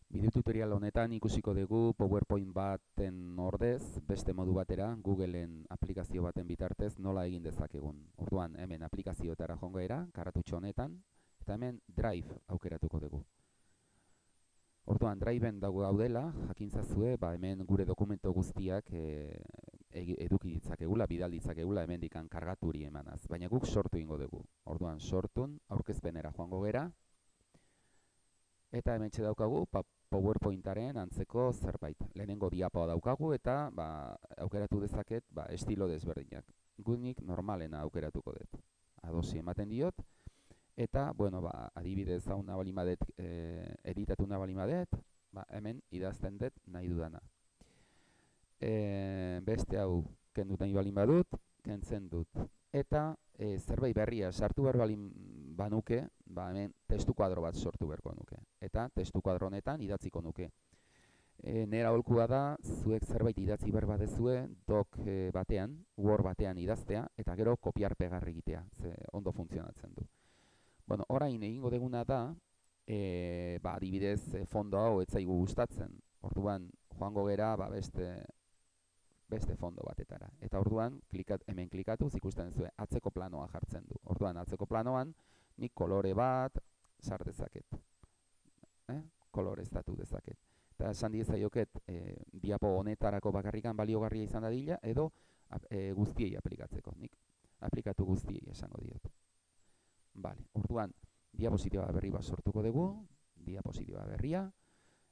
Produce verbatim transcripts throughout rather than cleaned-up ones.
Bideo tutorial honetan ikusiko dugu PowerPoint baten ordez, beste modu batera, Googleen aplikazio baten bitartez nola egin dezakegun. Orduan, hemen aplikazioetara joango gara, karatutxo honetan, eta hemen Drive aukeratuko dugu. Orduan, Driveen dago gaudela, jakintzazue, ba, hemen gure dokumento guztiak e, eduki ditzakegula, bidal ditzakegula, hemen dikan kargaturi emanaz. Baina guk sortu ingo dugu. Orduan, sortun, aurkezpenera joango gara, eta hemen daukagu pa, PowerPointaren antzeko zerbait. Lehenengo diapoa daukagu eta ba, aukeratu dezaket ba, estilo desberdinak. Gunik normalena aukeratuko dut. Adosi ematen diot. Eta, bueno, ba, adibidez hau nabalimadet, e, editatu nabalimadet, ba, hemen idazten dut nahi dudana. E, beste hau kendu nahi balin badut, kentzen dut. Eta e, zerbait berria sartu behar balin banuke, ba, hemen testu kuadro bat sortu beharko nuke. Eta testu kuadro honetan idatziko nuke. E, nera holkua da, zuek zerbait idatzi behar badezue, doc e, batean, Word batean idaztea, eta gero kopiar pegar egitea, ze ondo funtzionatzen du. Bueno, orain egingo deguna da, e, ba, adibidez fondo hau ez zaigu gustatzen. Orduan, joango gera, ba, beste beste fondo batetara. Eta orduan, klikat, hemen klikatuz ikusten zuen atzeko planoa jartzen du. Orduan, atzeko planoan, nik kolore bat sar dezaket. Eh? Koloreztatu dezaket. Eta esan diezaioket, e, diapo honetarako bakarrikan baliogarria izan dadila, edo e, guztiei aplikatzeko. Nik aplikatu guztiei esango diot. Vale, orduan, diapositiba berri bat sortuko dugu, diapositiba berria,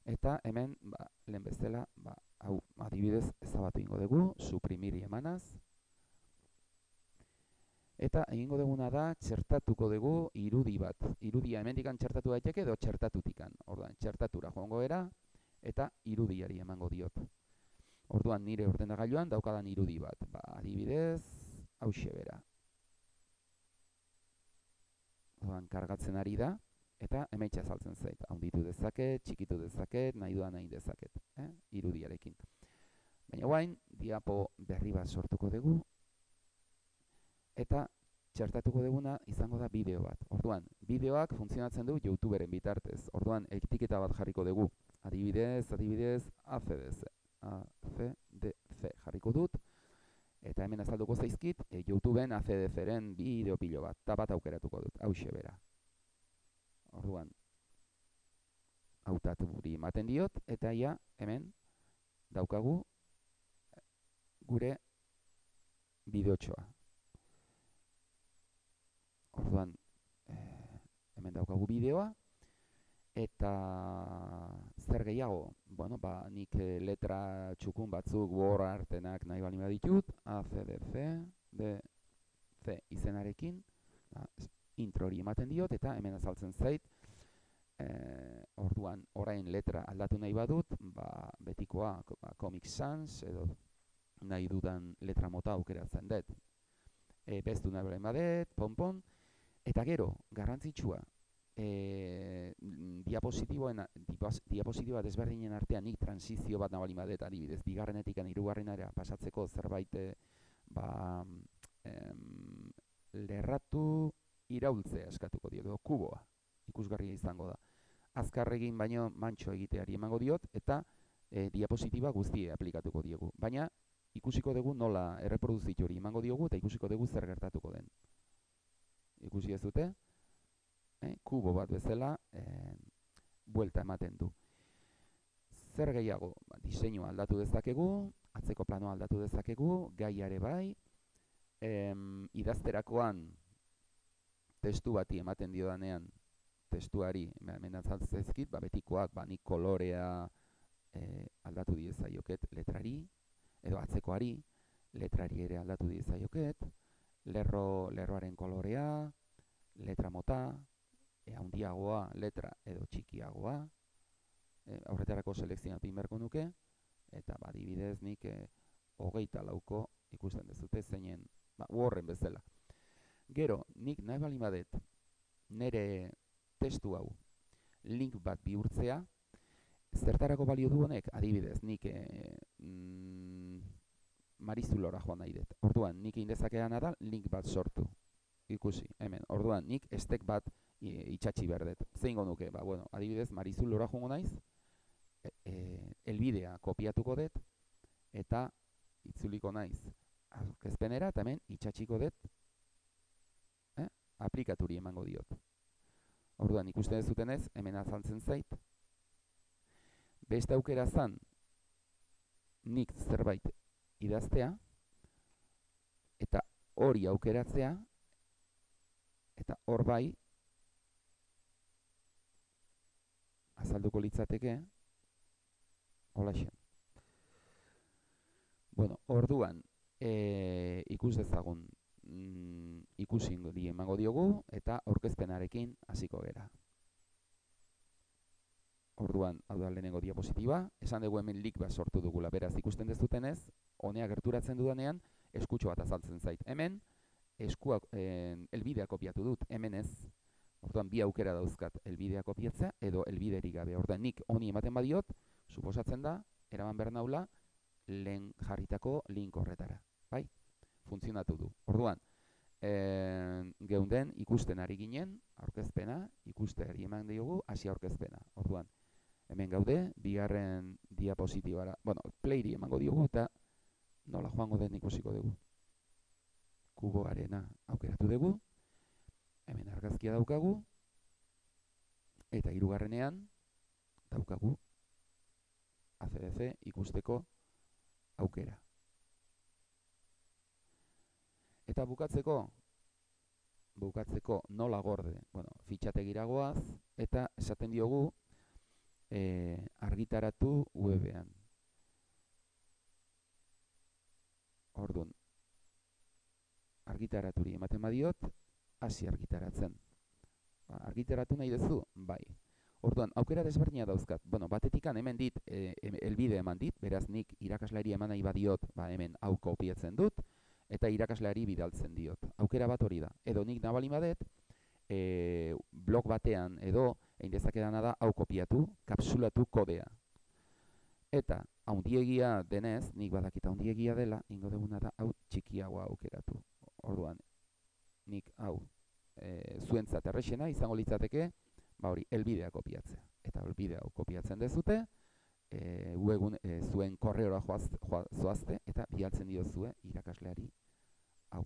eta hemen, ba, lehen bezala, ba, hau, adibidez, ezabatu ingo dugu, suprimiri emanaz. Eta egingo duguna da, txertatuko dugu irudi bat. Irudia hemendikan txertatu daiteke edo txertatutikan. Orduan, txertatura joango era, eta irudiari emango diot. Orduan, nire ordenagailuan daukadan irudi bat. Ba, adibidez, hauxe bera. Orduan, kargatzen ari da. Eta hementsa azaltzen zait, handitu dezaket, txikitu dezaket, nahi duan nahi dezaket, eh? Irudiarekin. Baina guain, diapo berri bat sortuko dugu, eta txertatuko duguna izango da bideo bat. Orduan, bideoak funtzionatzen du YouTuberen bitartez. Orduan, etiketa bat jarriko dugu. Adibidez, adibidez, A C D C. A C D C jarriko dut, eta hemen azalduko zaizkit, e, YouTubeen A C D C-ren bideo pilo bat, eta bat aukeratuko dut, hauxe bera. Orduan, hautatu guri ematen diot, eta ia hemen daukagu gure bideotxoa. Orduan, eh, hemen daukagu bideoa, eta zer gehiago? Bueno, ba, nik letra txukun batzuk Word artenak nahi balima ditut, A, C, D, C, D, C izenarekin, ba, intro hori ematen diot, eta hemen azaltzen zait, e, orduan orain letra aldatu nahi badut, ba, betikoa ba, Comic Sans, edo nahi dudan letra mota aukeratzen dut. E, bestu nahi balen badet, ponpon, eta gero, garrantzitsua, e, diapositiboen, diapositiba desberdinen artean nik transizio bat nabalin badet, adibidez, bigarrenetik hirugarrenera pasatzeko zerbait, ba, em, lerratu iraultzea eskatuko diot, edo kuboa ikusgarria izango da. Azkarregin baino mantxo egiteari emango diot, eta e, diapositiba guztie aplikatuko diegu. Baina ikusiko dugu nola erreproduzitu hori emango diogu, eta ikusiko dugu zer gertatuko den. Ikusi ez dute, e, kubo bat bezala e, buelta ematen du. Zer gehiago, ba, diseinua aldatu dezakegu, atzeko planoa aldatu dezakegu, gaiare bai, em, idazterakoan testu bati ematen diodanean, testuari hemen azaltzezkit, ba, betikoak, ba, nik kolorea e, aldatu diezaioket letrari, edo atzekoari, letrari ere aldatu diezaioket, lerro, lerroaren kolorea, letra mota, e, handiagoa, letra edo txikiagoa, e, aurretarako selekzionatu inberko nuke, eta ba, adibidez nik e, hogeita lauko ikusten dezute zeinen, ba, Worden bezala. Gero, nik nahi bali badet, nire testu hau link bat bihurtzea, zertarako balio du honek, adibidez, nik e, mm, Marizulora joan nahi dut. Orduan, nik indezakeana da link bat sortu. Ikusi, hemen. Orduan, nik estek bat e, itxatxi behar dut. Zeingo nuke, ba, bueno, adibidez, Marizulora joango naiz, e, elbidea kopiatuko dut, eta itzuliko naiz aurkezpenera, eta hemen itxatxiko dut, eh? aplikaturi emango diot. Orduan, ikusten duzutenez, hemen azaltzen zait. Beste aukera zan, nik zerbait idaztea, eta hori aukeratzea, eta hor bai, azalduko litzateke, holaxe. Bueno, orduan, e, ikus dezagun, mm, ikusi emango diogu, eta aurkezpenarekin hasiko gera. Orduan, hau da lehenengo diapositiba, esan dugu hemen link bat sortu dugula, beraz ikusten dezutenez, honea gerturatzen dudanean, eskutxo bat azaltzen zait. Hemen, eskuak, eh, elbidea kopiatu dut, hemen ez. Orduan, bi aukera dauzkat, elbidea kopiatzea edo elbiderik gabe. Orduan, nik honi ematen badiot, suposatzen da, eraman behar naula, lehen jarritako link horretara. Bai? Funtzionatu du. Orduan, e, geunden ikusten ari ginen, aurkezpena, ikusteari eman diogu, hasi aurkezpena. Orduan, hemen gaude, bigarren diapositibara, bueno, playri emango diogu eta nola joango den ikusiko dugu. Kuboarena aukeratu dugu, hemen argazkia daukagu, eta hirugarrenean daukagu A C D C ikusteko aukera. Eta bukatzeko, bukatzeko nola gorde, bueno, fitxategiragoaz, eta esaten diogu e, argitaratu webean. Orduan, argitaraturi ematen badiot, hasi argitaratzen. Ba, argitaratu nahi duzu? Bai. Orduan, aukera desberdina dauzkat. Bueno, batetikan hemen dit, e, elbide eman dit, beraz nik irakasleari eman nahi badiot, ba, hemen hau kopiatzen dut, eta irakasleari bidaltzen diot. Aukera bat hori da. Edo nik nabalin badet, e, blog batean edo, egin dezakedana da, hau kopiatu, kapsulatu kodea. Eta, haundiegia denez, nik badakita haundiegia dela, ingo duguna da, hau txikiagoa aukeratu. Orduan, nik hau e, zuentzat errexena izango litzateke, ba hori, elbidea kopiatzea. Eta elbidea kopiatzen dezute, e, uegun, e, zuen korreora joazte, joazte, eta bialtzen diozue irakasleari hau.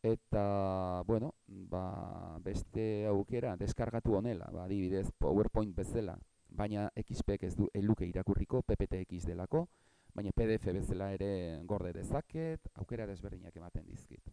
Eta, bueno, ba, beste aukera, deskargatu honela, ba, adibidez, PowerPoint bezala, baina X P ez du eluke irakurriko, P P T X delako, baina P D F bezala ere gorde dezaket, aukera desberdinak ematen dizkit.